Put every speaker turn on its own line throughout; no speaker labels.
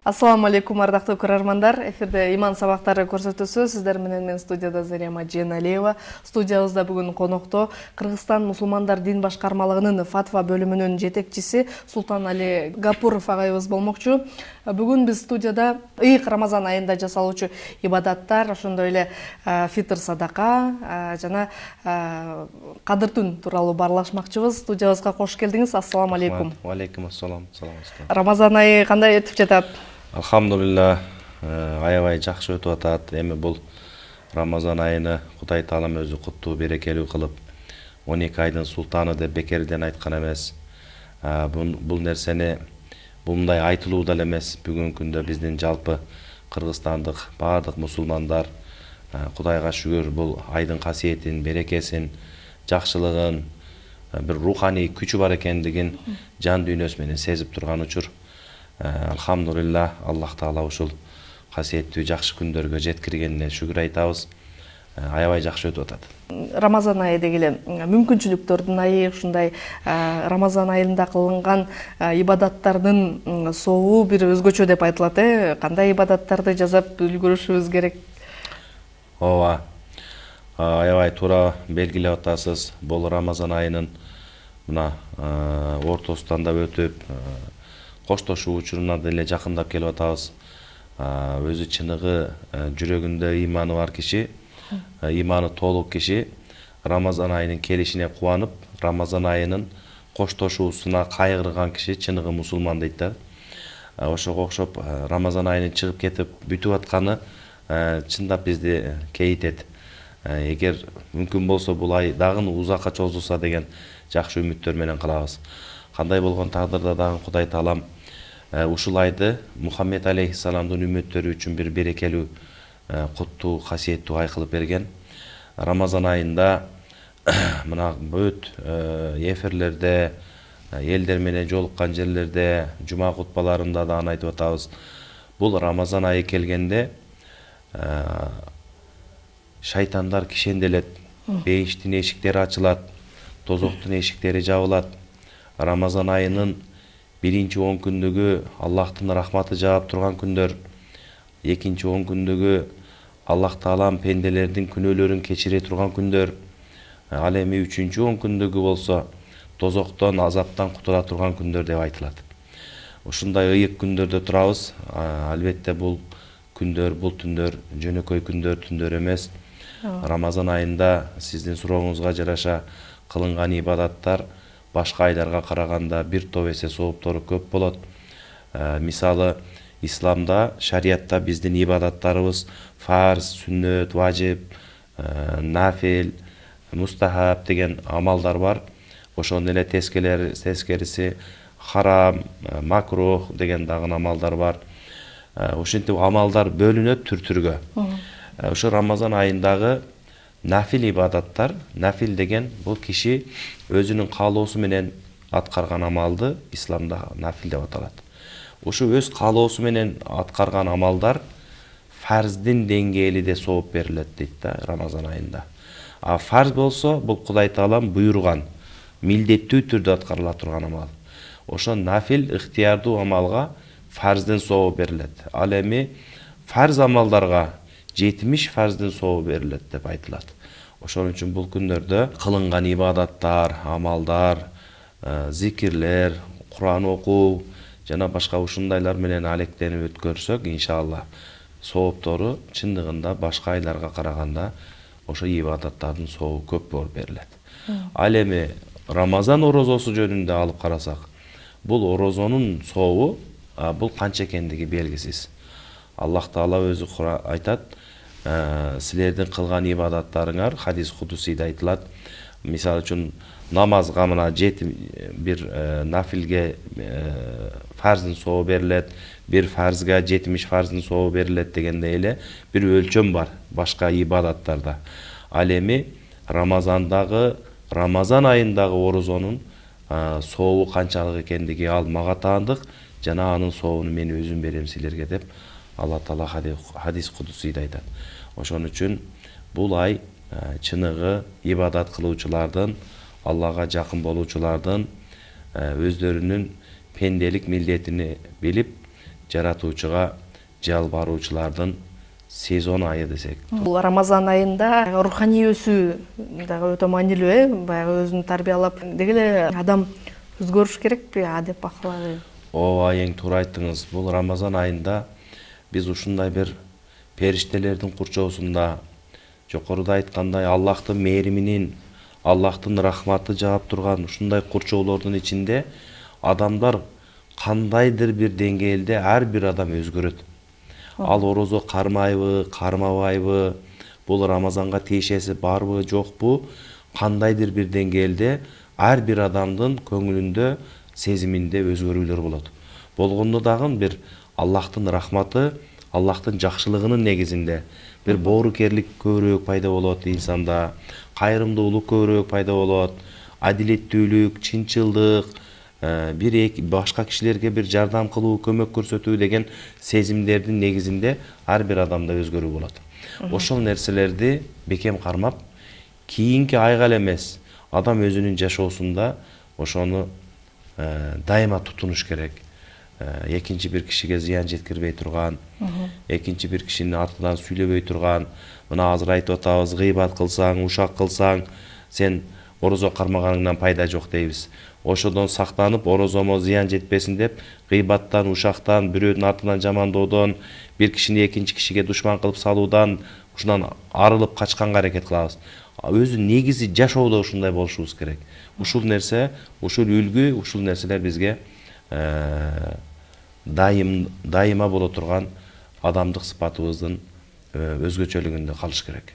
Ассаламу алейкум, ардактуу көрөрмандар. Эфирде иман сабактары көрсөтүүсү. Сиздер менен мен студияда Зария Маджиеналиева. Студиябызда бүгүн конокто Кыргызстан мусулмандар дин башкармалыгынын фатва бөлүмүнүн жетекчиси Султан Али Гапуров агайыбыз болмокчу. Бүгүн биз студияда ыйык Рамазан айында жасалуучу ибадаттар, ошондой эле фитр садака жана кадыр түн тууралуу баарлашмакчыбыз. Студиябызга кош келдиңиз. Ассаламу алейкум.
Алейкум ассалам. Саламатсыздар.
Рамазан айы кандай өтүп жатат?
Алхамдулилла, аябай жакшы өтүп атат. Эми бул Рамазан айыны Кудай Таалам өзү куттуу, берекелүү кылып, 12 айдын султаны деп бекерден айткан эмес. Бул нерсени мындай айтылуу деле эмес. Бүгүнкү күндө биздин жалпы кыргызстандык баардык мусулмандар Кудайга шүгүр бул айдын касиетин, берекесин, жакшылыгын, бир руханий күчү бар экендигин жан дүйнөсү менен сезип турган учур. Алхамдулилла, Аллах Таала ушул касиеттүү жакшы күндөргө жеткиргенине шүгүр айтабыз. Аябай жакшы өтүп атат.
Рамазан айы дегеле мүмкүнчүлүктөрдүн айы, ушундай Рамазан айында кылынган ибадаттардын сообу бир өзгөчө деп айтылат. Кандай ибадаттарды жасап үлгүрүшүбүз керек?
Ооба. Аябай туура белгилеп атасыз. Бул Рамазан айынын мына ортосунан да өтүп, коштошуу учуруна деле жакындап келип атабыз. Өзү чыныгы жүрөгүндө иманы бар киши, иманы толук киши Рамазан айынын келишине кубанып, Рамазан айынын коштошуусуна кайгырган киши чыныгы мусулман дейт да. Ошого окшоп Рамазан айынын чыгып кетип бүтүп атканы чындап бизди кейитет. Эгер мүмкүн болсо бул ай дагы узакка чозулса деген жакшы үмүттөр менен калабыз. Кандай болгон тагдырда дагы Кудай Таалам ушул айды Мухаммед алейхиссаламдын үммөттөрү үчүн бир берекелүү, куттуу, касиеттүү ай кылып берген. Рамазан айында мына бүт эфирлерде, элдер менен жолуккан жерлерде, жума кутбаларында да аны айтып атабыз. Бул Рамазан айы келгенде шайтандар кишенделет, бейиштин эшиктери ачылат, тозоктун эшиктери жабылат. Рамазан айынын биринчи 10 күндүгү Аллахтын рахматы жаап турган күндөр, экинчи 10 күндүгү Аллах Таалам пенделердин күнөөлөрүн кечире турган күндөр, ал эми үчүнчү 10 күндүгү болсо тозоктон, азаптан кутула турган күндөр деп айтылат. Ушундай ыйык күндөрдө турабыз. Албетте бул күндөр, бул түндөр жөнөкөй күндөр, түндөр эмес. Рамазан айында сиздин сурооңузга жараша кылынган ибадаттар башка айларга караганда бир топ эсе сооптору көп болот. Мисалы, исламда, шариятта биздин ибадаттарыбыз фарз, сүннөт, важип, нафил, мустахаб деген амалдар бар. Ошондой эле тескериси харам, макрух деген дагы амалдар бар. Ошентип амалдар бөлүнөт түр-түргө. Ошо Рамазан айындагы нафил ибадаттар, нафил деген бул киши өзүнүн каалоосу менен аткарган амалды исламда нафил деп аталат. Ушу өз каалоосу менен аткарган амалдар фарздин деңгээлиде сооп берилет дейт да Рамазан айында. А фарз болсо бул Кудай Таалам буйруган, милдеттүү түрдө аткарыла турган амал. Ошо нафил ыктыярдуу амалга фарздын сообу берилет. Ал эми фарз амалдарга 70 фарздын сообу берилет деп айтылат. Ошон үчүн бул күндөрдө кылынган ибадаттар, амалдар, зикирлер, Куран окуу жана башка ушундайлар менен алектенип өткөрсөк, иншалла, сооптору чындыгында башка айларга караганда ошо ибадаттардын сообу көп болуп берилет. Ал эми Рамазан орозосу жөнүндө алып карасак, бул орозонун сообу бул канча экендиги белгисиз. Аллах Таала өзү айтат, силердин кылган ибадаттарыңар хадис кудусийде айтылат. Мисалы үчүн намазга мына бир нафилге фарздын сообу берилет, бир фарзга 70 фарздын сообу берилет дегендей эле бир өлчөм бар башка ибадаттарда. Ал эми Рамазан айындагы орозонун сообу канчалык экендиги ал мага таандык, жана анын сообун мен өзүм берем силерге деп Алла Таала хадис кудусийде айтат. Ошон үчүн бул ай чыныгы ибадат кылуучулардын, Аллага жакын болуучулардын өздөрүнүн пенделик милдетини билип, жаратуучуга жалбаруучулардын сезон айы десек.
Бул Рамазан айында руханий өсүү дагы өтө маанилүү, баягы өзүн тарбиялап деги эле адам өзгөрүш керекпи деп бакылабы?
Ооба, эң туура айттыңыз. Бул Рамазан айында биз ушундай бир периштелердин курчоосунда, жокоруда айткандай Аллахтын мээриминин, Аллахтын рахматы жаап турган ушундай курчоолордун ичинде адамдар кандайдыр бир деңгээлде ар бир адам өзгөрөт. Ал орозо кармайбы, кармабайбы, бул Рамазанга тиешеси барбы, жокпу, кандайдыр бир деңгээлде ар бир адамдын көңүлүндө, сезиминде өзгөрүүлөр болот. Болгондо дагы бир Аллахтын рахматы, Аллахтын жакшылыгынын негизинде бир боорукерлик көбүрөөк пайда болот инсанда, кайрымдуулук көбүрөөк пайда болот, адилеттүүлүк, чынчылдык, башка кишилерге бир жардам кылуу, көмөк көрсөтүү деген сезимдердин негизинде ар бир адамда өзгөрүү болот. Ошол нерселерди бекем кармап, кийинки айга эле эмес, адам өзүнүн жашоосунда ошону дайыма тутунуш керек. Экинчи бир кишиге зыян жеткирбей турган, экинчи бир кишинин артынан сүйлөбөй турган, мына азыр айтып атабыз, гыйбат кылсаң, ушак кылсаң, сен орозо кармаганыңдан пайда жок дейбиз. Ошодон сактанып, орозомо зыян жетпесин деп, гыйбаттан, ушактан, бирөөнүн артынан жамандоодон, бир кишини экинчи кишиге душман кылып салуудан, ушундан арылып качканга аракет кылабыз. Өзү негизи жашоодо ушундай болушубуз керек. Ушул нерсе, ушул үлгү, ушул нерселер бизге дайыма боло турган адамдык сыпатыбыздын өзгөчөлүгүндө калыш керек.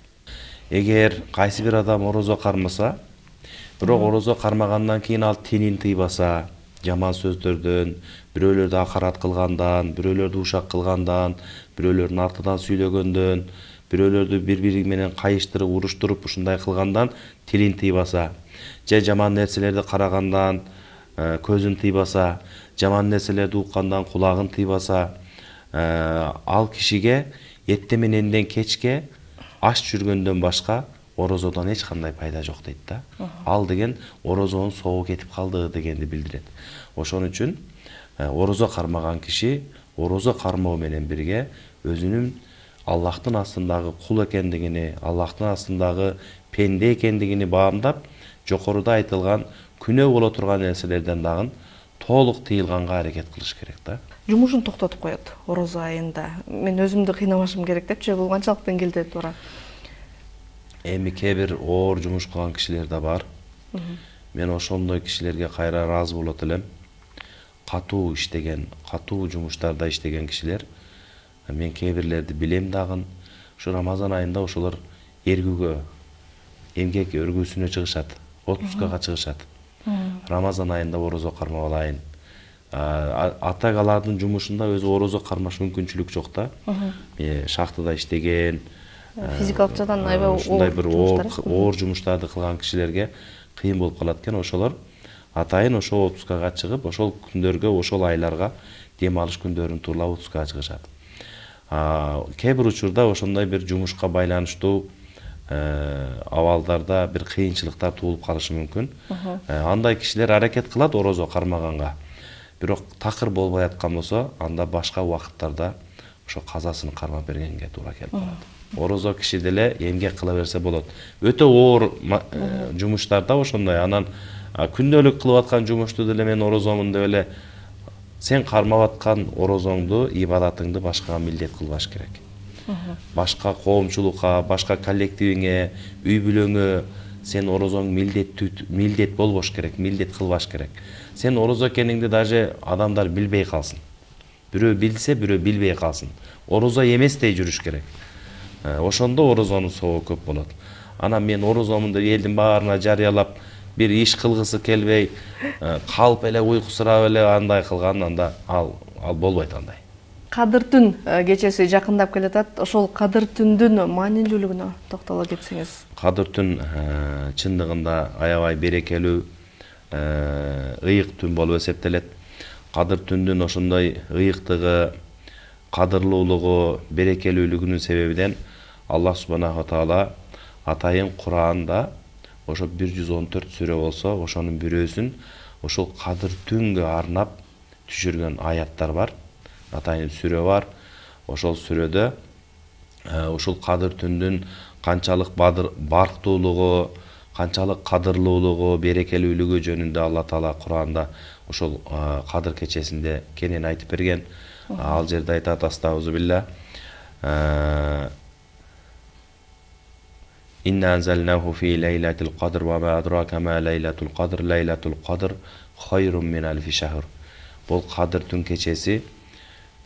Эгер кайсы бир адам орозо кармаса, бирок орозо кармагандан кийин ал тилин тыйбаса, жаман сөздөрдөн, бирөөлөрдү акарат кылгандан, бирөөлөрдү ушак кылгандан, бирөөлөрдүн артынан сүйлөгөндөн, бирөөлөрдү бири менен кайыштырып, уруштуруп ушундай кылгандан тилин тыйбаса, же жаман нерселерди карагандан көзүн тыйбаса, жаман нерселерди уккандан кулагын тыйбаса, ал кишиге эртең мененден кечке аш жүргөндөн башка орозодон эч кандай пайда жок дейт да. Ал деген орозонун соогу кетип калды дегенди билдирет. Ошон үчүн орозо кармаган киши орозо кармоо менен бирге өзүнүн Аллахтын астындагы кул экендигини, Аллахтын астындагы пенде экендигини баамдап, жокоруда айтылган күнөө боло турган нерселерден дагы толук тыйылганга аракет кылыш керек да.
Жумушун токтотуп коет орозо айында. Мен өзүмдү кыйнабашым керек депчи, бул канчалык деңгээлде туура?
Эми кээ бир оор жумуш кылган кишилер да бар. Мен ошондой кишилерге кайра ыраазы болот элем. Катуу иштеген, катуу жумуштарда иштеген кишилер. Мен кээ бирлерди билем дагы. Ушу Рамазан айында ошолор эргүүгө, эмгек өргүүсүнө чыгышат, отпускага чыгышат. Рамазан айында орозо кармап алайын. Атак алардын жумушунда өзү орозо кармаш мүмкүнчүлүк жок да. Шахтада иштеген,
физикалык жактан аябай
ушундай бир оор жумуштарды кылган кишилерге кыйын болуп калат экен. Ошолор атайын ошол отпускага чыгып, ошол күндөргө, ошол айларга дем алыш күндөрүн турлап отпускага чыгышат. Кээ бир учурда ошондой бир жумушка байланыштуу абалдарда бир кыйынчылыктар туулуп калышы мүмкүн. Андай кишилер аракет кылат орозо кармаганга. Бирок такыр болбой аткан болсо, анда башка убакыттарда ошо казасын кармап бергенге туура келип калат. Орозо киши деле эмгек кыла берсе болот. Өтө оор жумуштарда ошондой, анан күндөлүк кылып аткан жумушту деле мен орозомун деп эле сен кармап аткан орозоңду, ибадатыңды башкага милдет кылбаш керек. Башка коомчулукка, башка коллективиңе, үй бүлөңө сен орозоң милдет болбош керек, милдет кылбаш керек. Сен орозо экениңди даже адамдар билбей калсын. Бирөө билсе, бирөө билбей калсын. Орозо эместей жүрүш керек. Ошондо орозонун соогу көп болот. Анан мен орозомун деп элдин баарына жарыялап, бир иш кылгысы келбей, калып эле уйкусурап эле андай кылган, анда ал болбойт андай.
Кадыр түн кечеси жакындап келатат. Ошол кадыр түндүн маанилүүлүгүнө токтоло кетсеңиз.
Кадыр түн чындыгында аябай берекелүү, ыйык түн болуп эсептелет. Кадыр түндүн ошондой ыйыктыгы, кадырлуулугу, берекелүүлүгүнүн себебинен Аллах субханаху таала атайын Кур'анда ошо 114 сүрө болсо, ошонун бирөөсүн ошол кадыр түнгө арнап түшүргөн аяттар бар. атайын сүрө бар. Ошол сүрөдө ушул кадыр түндүн канчалык барктуулугу, канчалык кадырлуулугу, берекелүүлүгү жөнүндө Алла Таала Куранда ошол кадыр кечесинде кенен айтып берген. Ал жерде айтат: астагфирулла. Инна анзалнаху фи лейлатил кадр ва ма адрака ма лейлатул кадр. Лейлатул кадр хайрун мин алфи шахр. Бул кадыр түн кечеси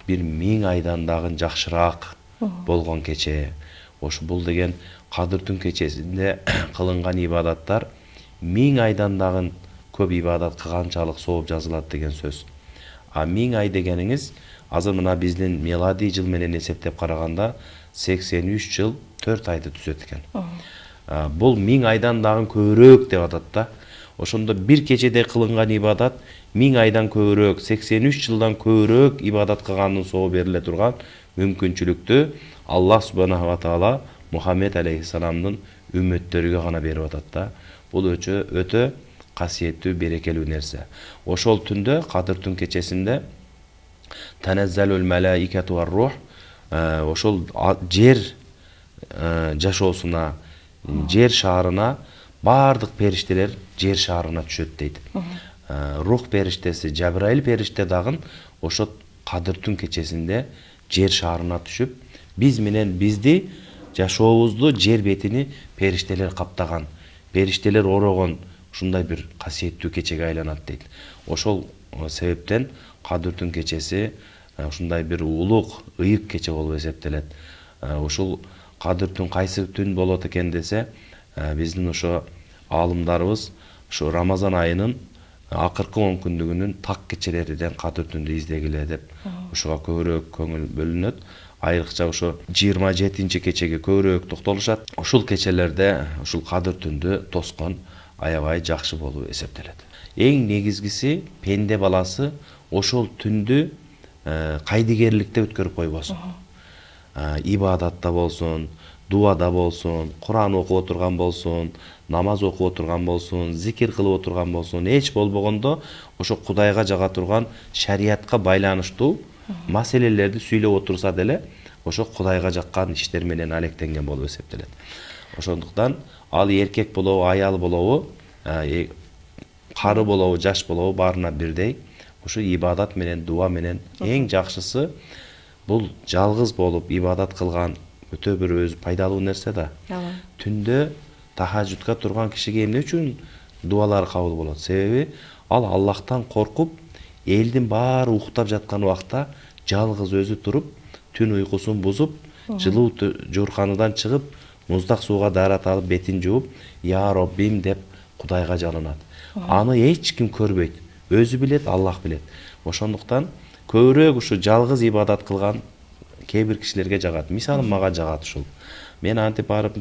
бир 1000 айдан дагы жакшыраак болгон кече. Ошо бул деген кадыр түн кечесинде кылынган ибадаттар 1000 айдан дагы көп ибадат кылганчалык сооп жазылат деген сөз. 1000 ай дегениңиз азыр мына биздин миладий жыл менен эсептеп караганда 83 жыл 4 айды түзөт экен. Бул 1000 айдан дагы көбүрөөк деп атат да. Ошондо бир кечеде кылынган ибадат 1000 айдан көбүрөөк, 83 жылдан көбүрөөк ибадат кылгандын соого бериле турган мүмкүнчүлүктү Аллах субханаху ва таала Мухаммед алейхиссаламдын үммөттөрүгө гана берип атат да. Бул өтө касиеттүү, берекелүү нерсе. Ошол түндө, кадыр түн кечесинде таназзалул малаикату вар рух, ошол жер жашоосуна, жер шаарына бардык периштелер жер шаарына түшөт дейт. Рух периштеси Жабраил периште дагы ошо кадыр түн кечесинде жер шаарына түшүп, биз менен бизди жашообузду жер бетини периштелер каптаган, периштелер орогон ушундай бир касиеттүү кечеге айланат дейт. Ошол себептен кадыр түн кечеси ушундай бир улуг, ыйык кече болуп эсептелет. Ушул кадыр түн кайсы түн болот экен десе, биздин ошо аалымдарыбыз ошо Рамазан айынын акыркы 10 күндүгүнүн так кечелеринен кадыр түндү издегиле деп ошого көбүрөөк көңүл бөлүнөт. Айрыкча ошо 27-чи кечеге көбүрөөк токтолушат. Ушул кечелерде ушул кадыр түндү тоскон аябай жакшы болуп эсептелет. Эң негизгиси пенде баласы ошол түндү кайдыгерликте өткөрүп койбосун. Ибадатта болсун, дуада болсун, Куран окуп отурган болсун, намаз окуп отурган болсун, зикир кылып отурган болсун, эч болбогондо ошо Кудайга жага турган шариятка байланыштуу маселелерди сүйлөп отурса деле ошо Кудайга жаккан иштер менен алектенген болуп эсептелет. Ошондуктан ал эркек болобу, аял болобу, кары болобу, жаш болобу баарына бирдей ушу ибадат менен, дуа менен эң жакшысы бул жалгыз болуп ибадат кылган өтө бир өзү пайдалуу нерсе да. Түндө тахажжудка турган кишиге эмне үчүн дуалар кабыл болот? Себеби ал Аллахтан коркуп, элдин баары уктап жаткан убакта жалгыз өзү туруп, түн уйкусун бузуп, жылуу жуурканыдан чыгып, муздак сууга даарат алып, бетин жууп, "Я Роббим" деп Кудайга жалынат. Аны эч ким көрбөйт. Өзү билет, Аллах билет. Ошондуктан көбүрөөк ушу жалгыз ибадат кылган кээ бир кишилерге жагат. Мисалы мага жагат ушул. Мен антип барып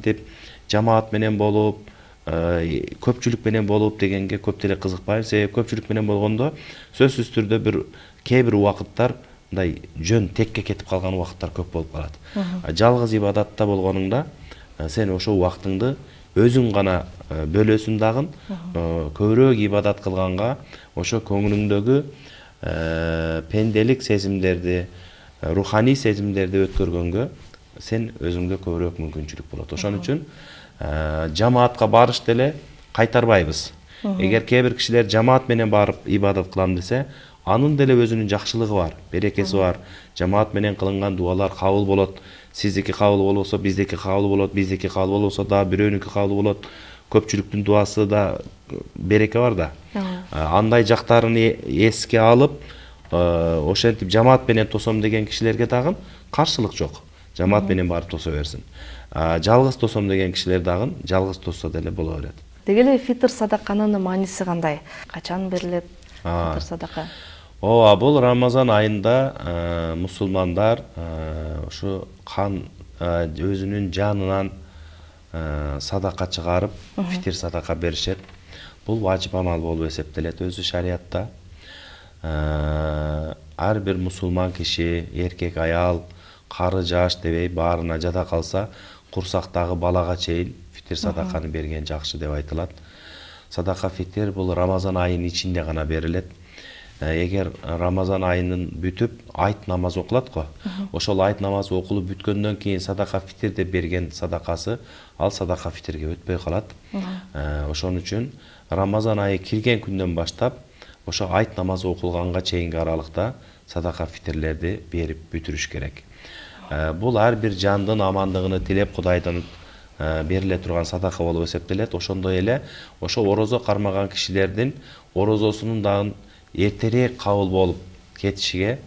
жамаат менен болуп, көпчүлүк менен болуп дегенге көп деле кызыкпайм. Себеби көпчүлүк менен болгондо сөзсүз түрдө кээ бир убакыттар мындай жөн текке кетип калган убакыттар көп болуп калат. Жалгыз ибадатта болгонуңда сен ошол убактыңды өзүң гана бөлөсүң дагы, көбүрөөк ибадат кылганга ошо көңүлүңдөгү пенделик сезимдерди, руханий сезимдерди өткөргөнгө сен өзүңгө көбүрөөк мүмкүнчүлүк болот. Ошон үчүн жамаатка барыш деле кайтарбайбыз. Эгер кээ бир кишилер жамаат менен барып ибадат кылам десе, анын деле өзүнүн жакшылыгы бар, берекеси бар. Жамаат менен кылынган дуалар кабыл болот. Сиздики кабыл болбосо, биздики кабыл болот, биздики кабыл болбосо да бирөөнүкү кабыл болот. Көпчүлүктүн дуасы да береке бар да. Андай жактарын эске алып, ошентип жамаат менен тосом деген кишилерге дагы каршылык жок. Жамаат менен барып тосо берсин. Жалгыз тосом деген кишилер дагы жалгыз тосса деле боло берет.
Деги эле фитр садаканын мааниси кандай? Качан берилет фитр садака?
Ооба, бул Рамазан айында мусулмандар ушу кан өзүнүн жанынан садака чыгарып, фитр садака беришет. Бул важип амал болуп эсептелет өзү шариятта. Ар бир мусулман киши, эркек, аял, кары, жаш дебей баарына жада калса, курсактагы балага чейин фитр садаканы берген жакшы деп айтылат. Садака фитр бул Рамазан айынын ичинде гана берилет. эгер Рамазан айынын бүтүп айт намазы окулат го, ошол айт намазы окулуп бүткөндөн кийин садака фитир деп берген садакасы ал садака фитирге өтпөй калат. Ошон үчүн Рамазан айы кирген күндөн баштап ошо айт намазы окулганга чейинки аралыкта садака фитирлерди берип бүтүрүш керек. Бул ар бир жандын амандыгын тилеп Кудайдан бериле турган садака болуп эсептелет. Ошондой эле ошо орозо кармаган кишилердин орозосунун дагы эртерээк кабыл болуп кетишиге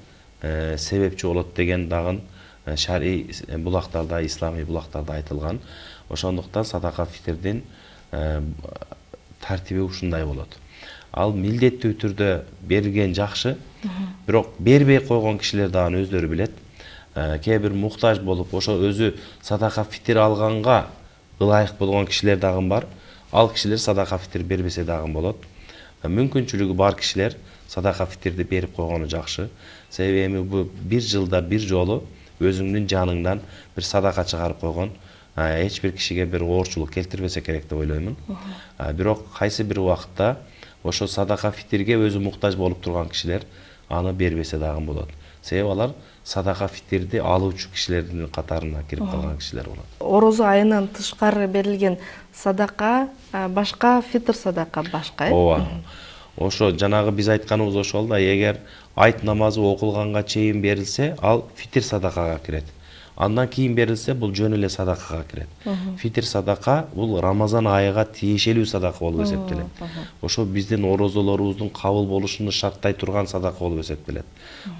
себепчи болот деген дагы шарий булактарда, исламий булактарда айтылган. Ошондуктан садака фитирдин тартиби ушундай болот. Ал милдеттүү түрдө берилген жакшы, бирок бербей койгон кишилер дагы өздөрү билет. Кээ бир муктаж болуп, ошо өзү садака фитир алганга ылайык болгон кишилер дагы бар. Ал кишилер садака фитир бербесе дагы болот. Мүмкүнчүлүгү бар кишилер садака фитирди берип койгону жакшы. Себеби эми бул бир жылда бир жолу өзүңдүн жаныңдан бир садака чыгарып койгон эч бир кишиге бир оорчулук келтирбесе керек деп ойлоймун. Бирок кайсы бир убакытта ошо садака фитирге өзү муктаж болуп турган кишилер аны бербесе дагы болот. Себеби алар садака фитирди алуучу кишилердин катарына кирип калган кишилер болот.
Орозо айынан тышкары берилген садака башка, фитир садака башка.
Ооба. Ошо жанагы биз айтканыбыз ошол да, эгер айт намазы окулганга чейин берилсе, ал фитир садакага кирет. Андан кийин берилсе, бул жөн эле садакага кирет. Фитир садака бул Рамазан айыга тиешелүү садака болуп эсептелет. Ошо биздин орозолорубуздун кабыл болушуну шарттай турган садака болуп эсептелет.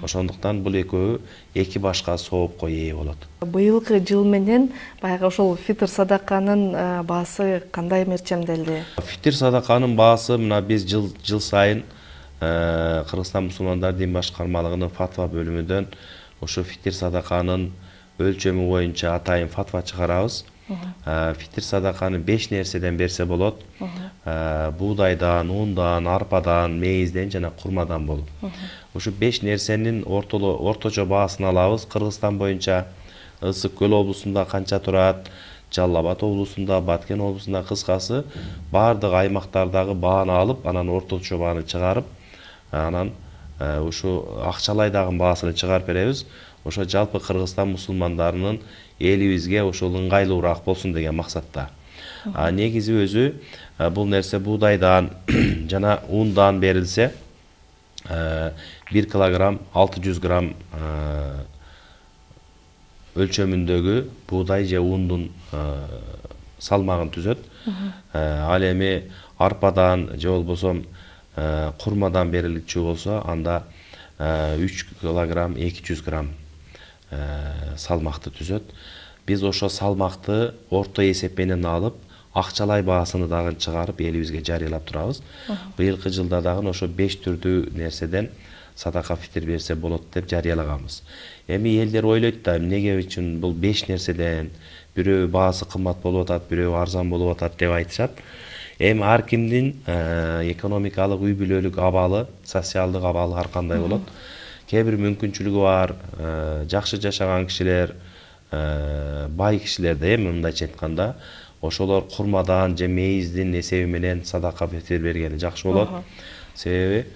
Ошондуктан бул экөө эки башка соопко ээ болот.
Быйылкы жыл менен баягы ошол фитир садаканын баасы кандай мерчемделди?
Фитир садаканын баасы мына биз жыл сайын Кыргызстан мусулмандар дин башкармалыгынын фатва бөлүмүнөн ошо фитир садаканын өлчөмү боюнча атайын фатва чыгарабыз. Фитир садаканы 5 нерседен берсе болот. Буудайдан, ундан, арпадан, мейизден жана курмадан болуп. Ошо 5 нерсенин орточо баасын алабыз. Кыргызстан боюнча Ысык Көл облусунда канча турат, Жалал Абад облусунда, Баткен облусунда, кыскасы баардык аймактардагы бааны алып, анан орточо бааны чыгарып, анан ушу акчалай дагы баасын чыгарып беребиз. Ошо жалпы Кыргызстан мусулмандарынын элибизге ошол ыңгайлуураак болсун деген максатта. Негизи өзү бул нерсе буудайдан жана ундан берилсе 1 килограмм 600 грамм өлчөмүндөгү буудай же ундун салмагын түзөт. Ал эми арпадан же болбосо курмадан берилчү болсо анда 3 килограмм 200 грамм салмакты түзөт. Биз ошо салмакты орто эсеп менен алып, акчалай баасыны дагы чыгарып элибизге жарыялап турабыз. Быйылкы жылда дагы ошо 5 түрдүү нерседен садака фитир берсе болот деп жарыялаганбыз. Эми элдер ойлойт да, эмнеге үчүн бул 5 нерседен бирөө баасы кымбат болуп атат, бирөө арзан болуп атат деп айтышат. Эми ар кимдин экономикалык үй бүлөлүк абалы, социалдык абалы ар кандай болот. Кээ бир мүмкүнчүлүгү бар, жакшы жашаган кишилер, бай кишилерде мындайча айтканда, ошолор курмадан же мейиздин эсеби менен садака фитир бергени жакшы болот. Себеби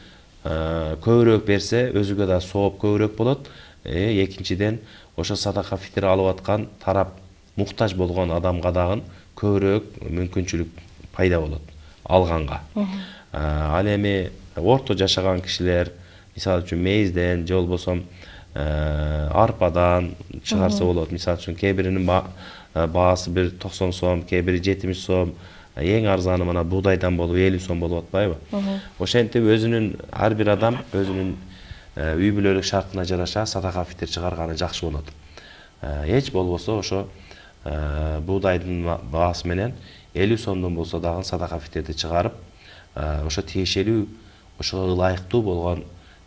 көбүрөөк берсе өзүгө да сооп көбүрөөк болот. Экинчиден ошо садака фитир алып аткан тарап муктаж болгон адамга дагы көбүрөөк мүмкүнчүлүк пайда болот алганга. Ал эми орто жашаган кишилер, мисалы үчүн мейизден же болбосо арпадан чыгарса болот. Мисалы үчүн кээ биринин баасы 90 сом, кээ бири 70 сом, эң арзаны мына буудайдан болуп 50 сом болуп атпайбы? Ошентип өзүнүн ар бир адам өзүнүн үй бүлөлүк шартына жараша садака фитир чыгарганы жакшы болот. Эч болбосо ошо буудайдын баасы менен 50 сомдон болсо дагы садака фитирди чыгарып, ошо тиешелүү, ошого ылайыктуу болгон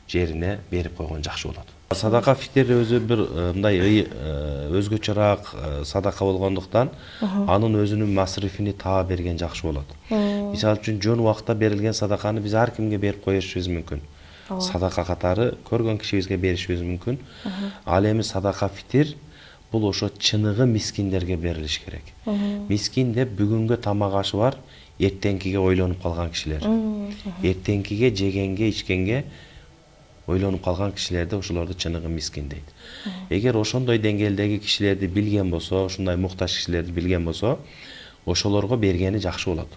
жерине берип койгон жакшы болот. Садака фитир өзү бир мындай өзгөчөраак садака болгондуктан анын өзүнүн масрифини таап берген жакшы болот. Мисалы үчүн жөн убакта берилген садаканы биз ар кимге берип коюшубуз мүмкүн. Садака катары көргөн кишибизге беришибиз мүмкүн. Ал эми садака фитир бул ошо чыныгы мискиндерге берилиш керек. Мискин деп бүгүнгө тамак ашы бар, эртеңкиге ойлонуп калган кишилер. Эртеңкиге жегенге, ичкенге ойлонуп калган кишилерди ошолорду чыныгы мискин дейт. Эгер ошондой деңгээлдеги кишилерди билген болсо, ушундай муктаж кишилерди билген болсо, ошолорго бергени жакшы болот.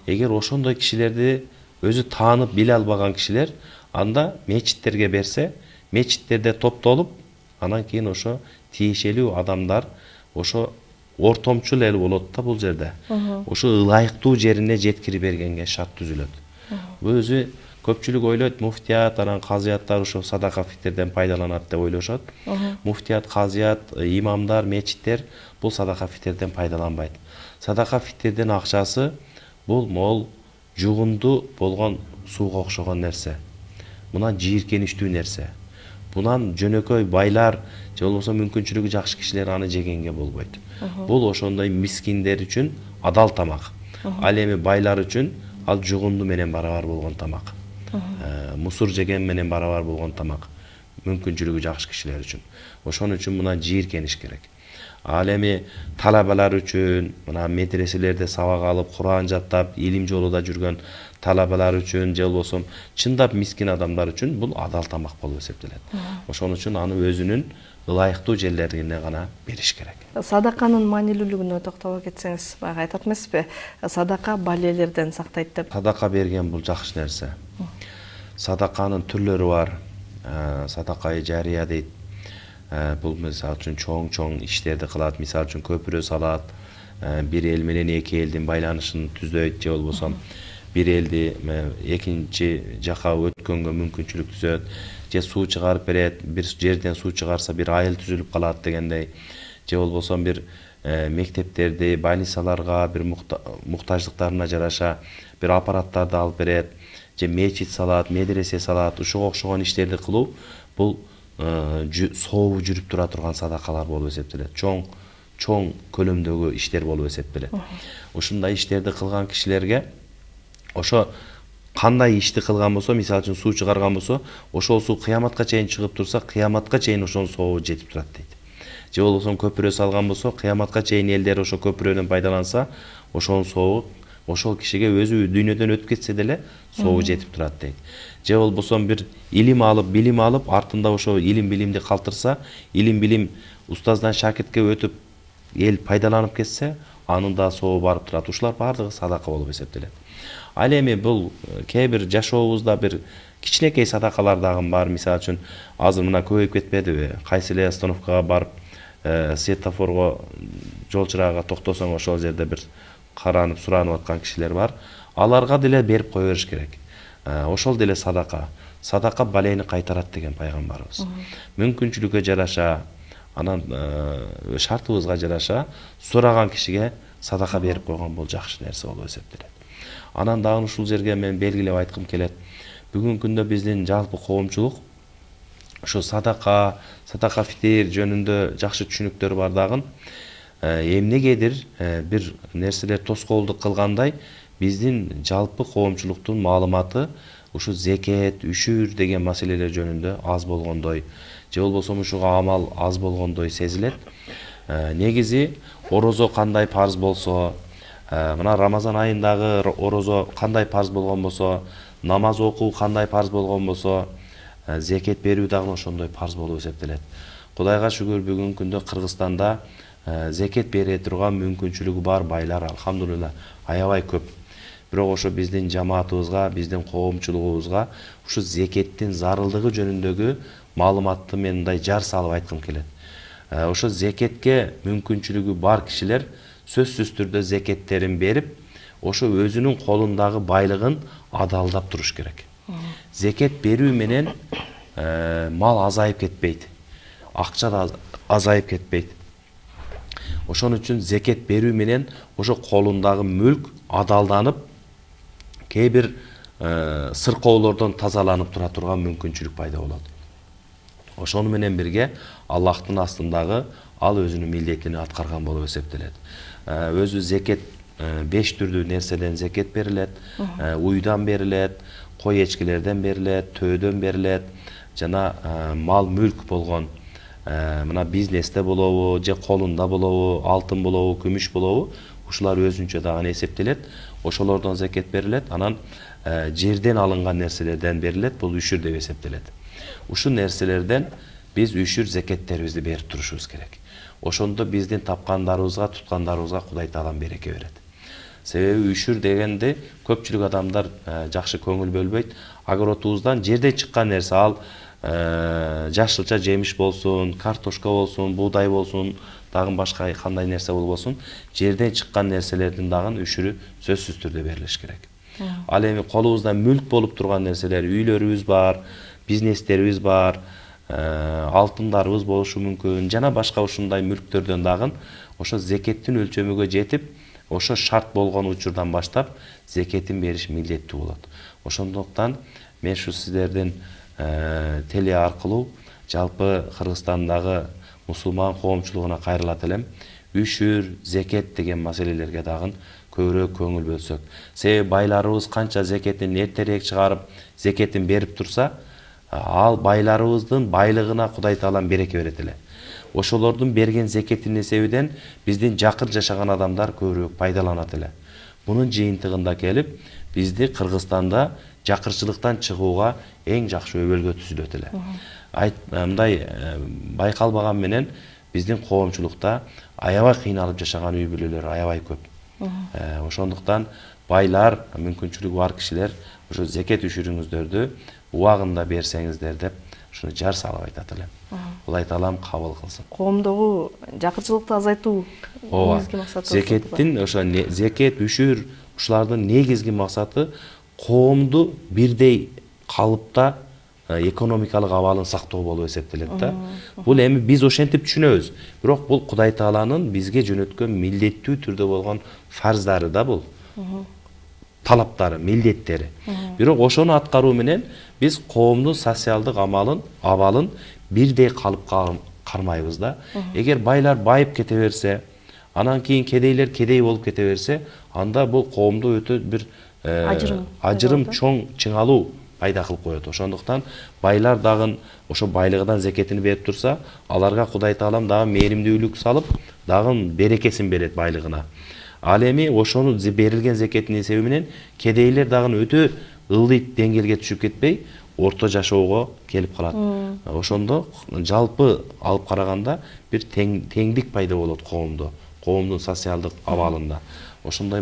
Эгер ошондой кишилерди өзү таанып биле албаган кишилер, анда мечиттерге берсе, мечиттерде топтолуп, анан кийин ошо тиешелүү адамдар ошо ортомчул эл болот да бул жерде. Ошо ылайыктуу жерине жеткирип бергенге шарт түзүлөт. Бул өзү көпчүлүк ойлойт, муфтият, анан казыяттар ошо садака фитрден пайдаланат деп ойлошот. Муфтият, казыят, имамдар, мечиттер бул садака фитрден пайдаланбайт. Садака фитрдин акчасы бул мол жугунду болгон сууга окшогон нерсе. Мунан жийиркеничтүү нерсе. Бунан жөнөкөй байлар же болбосо мүмкүнчүлүгү жакшы кишилер аны жегенге болбойт. Бул ошондой мискиндер үчүн адал тамак. Ал эми байлар үчүн ал жугунду менен барабар болгон тамак. Мусур жеген менен барабар болгон тамак. Мүмкүнчүлүгү жакшы кишилер үчүн. Ошон үчүн мына жийиркениш керек. Ал эми талабалар үчүн, мына медреселерде сабак алып, Куран жаттап, илим жолуда жүргөн талабалар үчүн, же болбосо чындап мискин адамдар үчүн бул адал тамак болуп эсептелет. Ошон үчүн аны өзүнүн ылайыктуу жерлерине гана бериш керек.
Садаканын маанилүүлүгүнө токтоло кетсеңиз, баягы айтат эмеспи, садака балелерден сактайт деп.
Садака берген бул жакшы нерсе. Садаканын түрлөрү бар. Садакай жария дейт. Бул мисалы үчүн чоң иштерди кылат, мисалы үчүн көпүрө салат, бир эл менен эки элдин байланышын түзөйт, же болбосо бир элди экинчи жака өткөнгө мүмкүнчүлүк түзөт, же суу чыгарып берет, бир жерден суу чыгарса бир айыл түзүлүп калат дегендей, же болбосо бир мектептерди, больницаларга бир муктаждыктарына жараша бир аппараттарды алып берет, же мечит салат, медресе салат, ушуга окшогон иштерди кылуу бул сообу жүрүп тура турган садакалар болуп эсептелет. Чоң көлөмдөгү иштер болуп эсептелет. Ушундай иштерди кылган кишилерге ошо кандай ишти кылган болсо, мисалы үчүн суу чыгарган болсо, ошол суу кыяматка чейин чыгып турса, кыяматка чейин ошонун сообу жетип турат дейт. Же болбосо көпүрө салган болсо, кыяматка чейин элдер ошо көпүрөдөн пайдаланса, ошонун сообу ошол кишиге өзү дүйнөдөн өтүп кетсе деле сообу жетип турат дейт. Же болбосо бир илим алып, билим алып, артында ошо илим билимди калтырса, илим билим устаздан шакиртке өтүп, эл пайдаланып кетсе, анын да сообу барып турат. Ушулар баардыгы садака болуп эсептелет. Ал эми бул кээ бир жашообузда бир кичинекей садакалар дагы бар. Мисалы үчүн азыр мына көбөйүп кетпедиби? Кайсы эле остановкага барып, светофорго, жол чырагга токтосоң, ошол жерде бир каранып, суранып аткан кишилер бар. Аларга деле берип кое бериш керек. Ошол деле садака. Садака балени кайтарат деген пайгамбарыбыз. Мүмкүнчүлүккө жараша, анан шартыбызга жараша сураган кишиге садака берип койгон бул жакшы нерсе болуп эсептелет. Анан дагы ушул жерге мен белгилеп айткым келет. Бүгүнкү күндө биздин жалпы коомчулук ошо садака фитир жөнүндө жакшы түшүнүктөр бар дагы. Эмнегедир бир нерселер тоскоолдук кылгандай, биздин жалпы коомчулуктун маалыматы ушу зекет, үшүр деген маселелер жөнүндө аз болгондой, же болбосо ушуга амал аз болгондой сезилет. Негизи орозо кандай парз болсо, мына Рамазан айындагы орозо кандай парз болгон болсо, намаз окуу кандай парз болгон болсо, зекет берүү дагы ошондой парз болуп эсептелет. Кудайга шүгүр, бүгүнкү күндө Кыргызстанда зекет бере турган мүмкүнчүлүгү бар байлар алхамдулилла аябай көп. Бирок ошо биздин жамаатыбызга, биздин коомчулугубузга ушу зекеттин зарылдыгы жөнүндөгү маалыматты мен мындай жар салып айткым келет. Ошо зекетке мүмкүнчүлүгү бар кишилер сөзсүз түрдө зекеттерин берип, ошо өзүнүн колундагы байлыгын адалдап туруш керек. Зекет берүү менен мал азайып кетпейт, акча да азайып кетпейт. Ошон үчүн зекет берүү менен ошо колундагы мүлк адалданып, кээ бир сыркоолордон тазаланып тура турган мүмкүнчүлүк пайда болот. Ошону менен бирге Аллахтын астындагы ал өзүнүн милдетин аткарган болуп эсептелет. Өзү зекет 5 түрдүү нерседен зекет берилет, уйдан берилет, кой эчкилерден берилет, төөдөн берилет, жана мал мүлк болгон мына бизнесте болобу, же колунда болобу, алтын болобу, күмүш болобу, ушулар өзүнчө дагы эсептелет. Ошолордон зекет берилет, анан жерден алынган нерселерден берилет, бул үшүр деп эсептелет. Ушул нерселерден биз үшүр зекеттерибизди берип турушубуз керек. Ошондо биздин тапкандарыбызга, туткандарыбызга Кудай Таалам береке берет. Себеби үшүр дегенде көпчүлүк адамдар жакшы көңүл бөлбөйт. Огородубуздан жерден чыккан нерсе, ал жашылча жемиш болсун, картошка болсун, буудай болсун, дагы башка кандай нерсе болбосун, жерден чыккан нерселердин дагы үшүрү сөзсүз түрдө берилиш керек. Ал эми колубузда мүлк болуп турган нерселер, үйлөрүбүз бар, бизнестерибиз бар, алтындарыбыз болушу мүмкүн, жана башка ушундай мүлктөрдөн дагы ошо зекеттин өлчөмүгө жетип, ошо шарт болгон учурдан баштап зекетин бериш милдеттүү болот. Ошондуктан мен ушу сиздердин теле аркылуу жалпы Кыргызстандагы мусулман коомчулугуна кайрылат элем. Үшүр, зекет деген маселелерге дагы көбүрөөк көңүл бөлсөк. Себеби байларыбыз канча зекетин эртерээк чыгарып, зекетин берип турса, ал байларыбыздын байлыгына Кудай Таалам береке берет эле. Ошолордун берген зекетин эсебинен биздин жакыр жашаган адамдар көбүрөөк пайдаланат эле. Мунун жыйынтыгында келип, бизди Кыргызстанда жакырчылыктан чыгууга эң жакшы өбөлгө түзүлөт эле. Мындай байкалбаган менен биздин коомчулукта аябай кыйналып жашаган үй бүлөлөр аябай көп. Ошондуктан байлар, мүмкүнчүлүгү бар кишилер ошо зекет үшүрүңүздөрдү убагында берсеңиздер деп ушуну жар салып айтат элем. Кудай Таалам кабыл кылсын.
Коомдогу жакырчылыкты азайтуу негизги максаты.
Зекеттин ошо зекет, үшүр ушулардын негизги максаты коомду бирдей калыпта экономикалык абалын сактоо болуп эсептелет да. Бул эми биз ошентип түшүнөбүз. Бирок бул Кудай Тааланын бизге жөнөткөн милдеттүү түрдө болгон фарздары да бул. Талаптары, милдеттери. Бирок ошону аткаруу менен биз коомдун социалдык абалын бирдей калыпка кармайбыз да. Эгер байлар байып кете берсе, анан кийин кедейлер кедей болуп кете берсе, анда бул коомдо өтө бир ажырым чоң чыңалуу пайда кылып коет. Ошондуктан байлар дагы ошо байлыгынан зекетин берип турса, аларга Кудай Таалам дагы мээримдүүлүк салып, дагы берекесин берет байлыгына. Ал эми ошону берилген зекеттин эсеби менен кедейлер дагы өтө ылдый деңгээлге түшүп кетпей, орто жашоого келип калат. Ошондо жалпы алып караганда бир теңдик пайда болот коомдо, коомдун социалдык абалында. Ошондой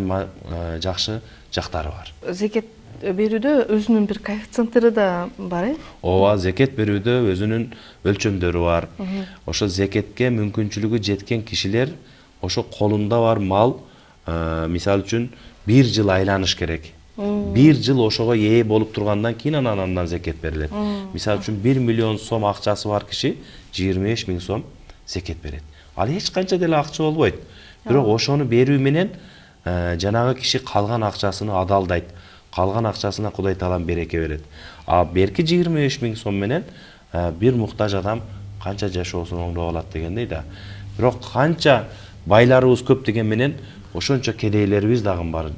жакшы жактары бар.
Зекет берүүдө өзүнүн бир коэффициенттери да бар,
Ооба, зекет берүүдө өзүнүн өлчөмдөрү бар. Ошо зекетке мүмкүнчүлүгү жеткен кишилер ошо колунда бар мал, мисалы үчүн 1 жыл айланыш керек. 1 жыл ошого ээ болуп тургандан кийин андан зекет берилет. Мисалы үчүн 1 миллион сом акчасы бар киши 25 000 сом зекет берет. Ал эч канча деле акча болбойт. Бирок ошону берүү менен жанагы киши калган акчасыны адалдайт. Калган акчасына Кудай Таалам береке берет. А берки 25 000 сом менен бир муктаж адам канча жашоосун оңдоп алат дегендей да. Бирок канча байларыбыз көп деген менен ошончо кедейлерибиз дагы бар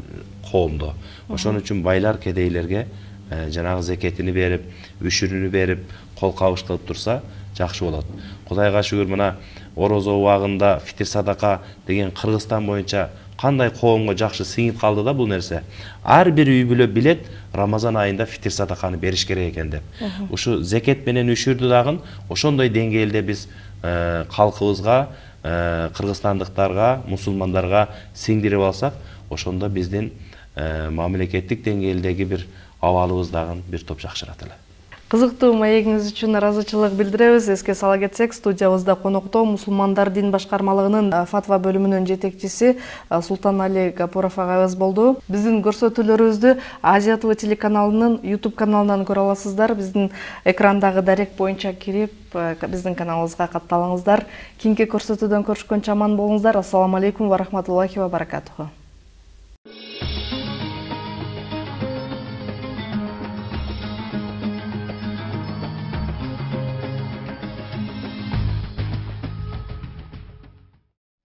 коомдо. Ошон үчүн байлар кедейлерге жанагы зекетини берип, үшүрүнү берип, кол кабыш кылып турса жакшы болот. Кудайга шүгүр, мына орозо убагында фитир садака деген Кыргызстан боюнча кандай коомго жакшы сиңип калды да бул нерсе. Ар бир үй бүлө билет Рамазан айында фитир садаканы бериш керек экен деп. Ушу зекет менен үшүрдү дагы ошондой деңгээлде биз калкыбызга, кыргызстандыктарга, мусулмандарга сиңдирип алсак, ошондо биздин мамлекеттик деңгээлдеги бир абалыбыз дагы бир топ жакшырат эле.
Кызыктуу маегиңиз үчүн ыраазычылык билдиребиз. Эске сала кетсек, студиябызда конокто мусулмандар дин башкармалыгынын фатва бөлүмүнүн жетекчиси Султанали Гапуров агайыбыз болду. Биздин көрсөтүүлөрүбүздү Азия ТВ телеканалынын YouTube каналынан көрө аласыздар. Биздин экрандагы дарек боюнча кирип, биздин каналыбызга катталыңыздар. Кийинки көрсөтүүдөн көрүшкөнчө аман болуңуздар. Ассаламу алейкум ва рахматуллахи ва баракатуху.